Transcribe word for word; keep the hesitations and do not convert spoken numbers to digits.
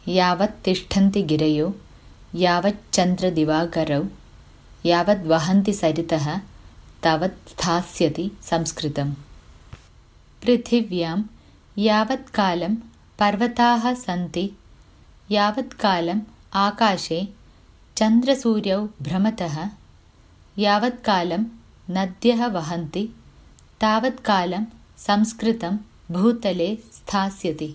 यावत् तिष्ठन्ति गिरयो यावच्चन्द्रदिवाकरौ यावद्वहन्ति सरितः तावत् स्थास्यति संस्कृतम्। पृथिव्यां यावत्कालं पर्वताः सन्ति यावत्कालम् आकाशे चन्द्रसूर्यौ भ्रमतः यावत्कालं नद्यः वहन्ति तावत्कालं संस्कृतं भूतले स्थास्यति।